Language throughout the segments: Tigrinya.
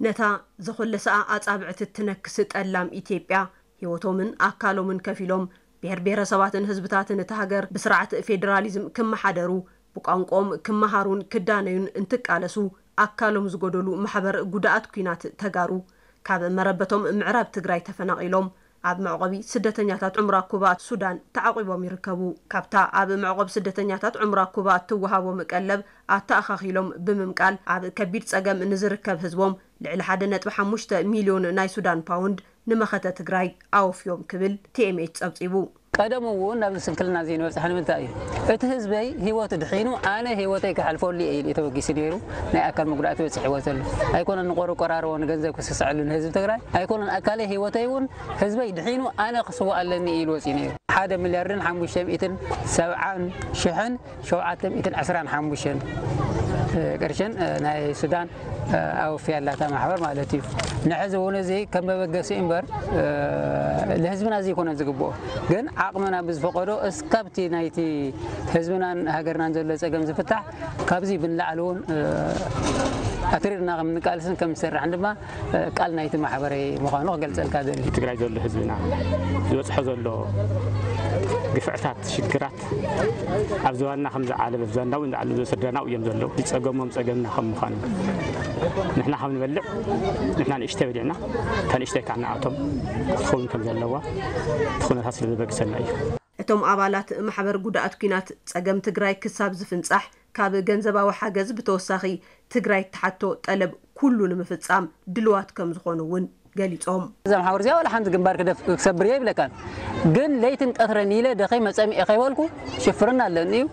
ነታ ዘኾለሰኣ ኣጻብዕቲ እትነክስ ጠላም ኢትዮጵያ፣ ህይወቶምን ኣካሎምን ከፊሎም፣ ብሔር ብሔረሰባትን ህዝብታትን እታ ሃገር ብስርዓት ፌዴራሊዝም ክመሓደሩ፣ ብቋንቋኦም ክመሃሩን ክዳነዩን እንትቃለሱ፣ ኣካሎም ዝጎደሉ ማሕበር ጉዳኣት ኲናት ተጋሩ፣ ካብ መረበቶም ምዕራብ ትግራይ ተፈናቒሎም፣ ኣብ መዕቆቢ ስደተኛታት ዑምራ ኩባ ሱዳን ተዓቂቦም ይርከቡ። ካብታ ኣብ መዕቆብ ስደተኛታት ዑምራ ኩባ እትወሃቦም ቀለብ ኣተኣኻኺሎም ብምምቃል፣ ኣብ ከቢድ ጸገም ንዝርከብ ህዝቦም ልዕሊ ሓደ ነጥቢ ሓሙሽተ ሚልዮን ናይ ሱዳን ፓውንድ ንመኸተ ትግራይ ኣወፍዮም ክብል ቲ ኤም ኤች ጸብጺቡ። ቀደም እውን ናብዚ ስንክልና እዚ ንበጽሐ ንምንታይ እዩ? እቲ ህዝበይ ህይወቱ ድሒኑ ኣነ ህይወተይ ክሓልፈሉ እየ ኢሉ እዩ ተበጊሱ ነይሩ። ናይ ኣካል መጉዳእቲ በጺሕዎ ዘሎ ኣይኮነን፣ ንቆርቆራርዎ ንገንዘብ ክስስዐሉ ንህዝቢ ትግራይ ኣይኮነን። ኣካለይ ህይወተይ እውን ህዝበይ ድሒኑ ኣነ ክስዋእ ኣለኒ ኢሉ ወፂኡ ነይሩ። ሓደ ሚልያርድን ሓሙሽተ ሚእትን ሰብዓን ሽሕን ሸውዓተ ሚእትን ዕስራን ሓሙሽተን ቅርሽን ናይ ሱዳን ኣወፍያ ኣላ እታ ማሕበር ማለት እዩ። ንሕዚ እውን እዚ ከም መበገሲ እምበር ንህዝብና እዚ ይኮነን ዝግብኦ፣ ግን ዓቕምና ብዝፈቀዶ እስካብቲ ናይቲ ህዝብናን ሃገርናን ዘሎ ፀገም ዝፍታሕ ካብዚ ብንላዕሊ እውን ኣትሪርና ከም ንቃልስን ከም ንሰርሕን ድማ ቃል ናይቲ ማሕበረይ ምዃኑ ክገልጸልካ ደሊ። ትግራይ ዘሎ ህዝብና ዝበፅሖ ዘሎ ግፍዕታት፣ ሽግራት ኣብ ዝባንና ከም ዝዓለበ፣ ኣብ ዝባንና እውን ዝዓለበ ስድራና እዮም ዘለዉ። ዝፀገሞም ፀገምና ከም ምዃኑ ንሕና ካብ ንበልዕ ንሕና ንእሽተይ በሊዕና እታ ንእሽተይ ከዓ ንኣቶም ክትኸውን ከም ዘለዋ እቲ ኩነታት ስለ ዘበግሰና እዩ። እቶም ኣባላት ማሕበር ጉዳኣት ኲናት ጸገም ትግራይ ክሳብ ዝፍንጻሕ ካብ ገንዘባዊ ሓገዝ ብተወሳኺ ትግራይ እትሓቶ ጠለብ ኩሉ ንምፍጻም ድልዋት ከም ዝኾኑ እውን ገሊጾም። እዛ ማሕበር እዚኣ ዋላ ሓንቲ ግንባር ክደፍ-፣ ክሰብር እየ ይብለካን፣ ግን ለይትን ቀትረን ኢለ ደኸይ መጸምኤ ከይበልኩ ሽፍርና ኣለኒ እዩ።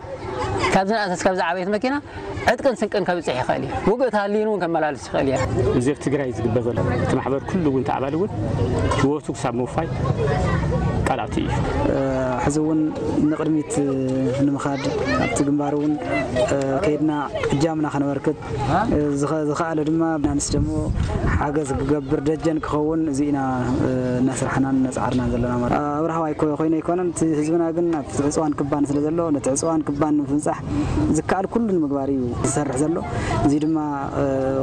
ካብዚ ንእሰስ ካብዚ ዓበየት መኪና ዕጥቅን ስንቅን ከብጽሕ ይኽእል እዩ። ውግእ ተሃልዩን እውን ከመላልስ ይኽእል እየ። እዚ ኣብ ትግራይ ዝግበር ዘሎ እቲ ማሕበር ኩሉ እውን ተኣባል እውን ህይወቱ ክሳብ ምውፋይ ቃል ኣትዩ እዩ። ሕዚ እውን ንቕድሚት ንምኻድ ኣብቲ ግንባር እውን ከይድና እጃምና ከነበርክት ዝኸ-፣ ዝኸኣለ ድማ ናንስ ደግሞ ሓገዝ ክገብር ደጀን ክኸውን እዚ ኢና እናሰርሓናን እናጻዓርናን ዘለና ማለት ኣብርሃዋይ ኮይነ ኣይኮነን። እቲ ህዝብና ግን ኣብቲ ዕፅዋን ክባን ስለ ዘሎ ነቲ ዕፅዋን ክባን ንምፍንጻሕ ዝከኣል ኩሉ ንምግባር እዩ ዝሰርሕ ዘሎ። እዚ ድማ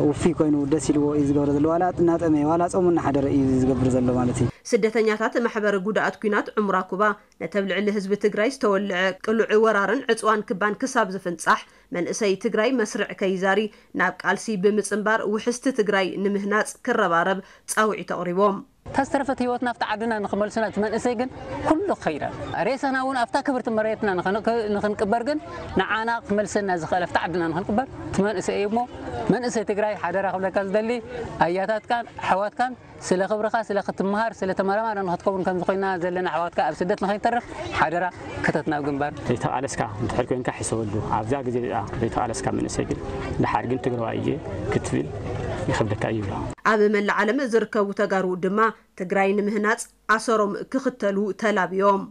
ውፉይ ኮይኑ ደስ ኢልዎ እዩ ዝገብሮ ዘሎ። ዋላ እናጠመየ ዋላ ጾሙ እናሓደረ እዩ ዝገብር ዘሎ ማለት እዩ። ስደተኛታት ማሕበር ጉዳኣት ኲናት ዑምራ ኩባ ነቲ ኣብ ልዕሊ ህዝቢ ትግራይ ዝተወልዐ ቅሉዕ ወራርን ዕፅዋን ክባን ክሳብ ዝፍንጻሕ መንእሰይ ትግራይ መስርዕ ከይዛሪ ናብ ቃልሲ ብምጽንባር ውሕስቲ ትግራይ ንምህናጽ ክረባረብ ጻውዒት ኣቕሪቦም። እታ ዝተረፈት ህይወትና ኣብቲ ዓድና ንኽመልሱና እቲ መንእሰይ ግን ኩሉ ክኸይድ ኣሎ። ሬሳና እውን ኣብታ ክብርቲ መሬትና ንኽን-፣ ንኽንቅበር ግን ንዓና ክመልሰና ዝኽእል ኣብቲ ዓድና ንኽንቅበር እቲ መንእሰይ እዩ እሞ መንእሰይ ትግራይ ሓደራ ክብለካ ዝደሊ ኣያታትካን ኣሕዋትካን ስለ ክብርኻ ስለ ክትምሃር ስለ ተመራማሪ ንኽትከውን ከምዚ ኮይና ዘለና ኣሕዋትካ ኣብ ስደት ንኸይተርፍ ሓደራ ክተት ናብ ግንባር። ዘይተቓለስካ እንድሕር ኮይንካ ሕሰበሉ። ኣብዛ ግዜ እዚኣ ዘይተቓለስካ መንእሰይ ግን ደሓር ግን ትግራዋይ እየ ክትብል ይኸብደካ እዩ ይብሎ። ኣብ መላእ ዓለም ዝርከቡ ተጋሩ ድማ ትግራይ ንምህናጽ ኣሰሮም ክኽተሉ ተላብዮም።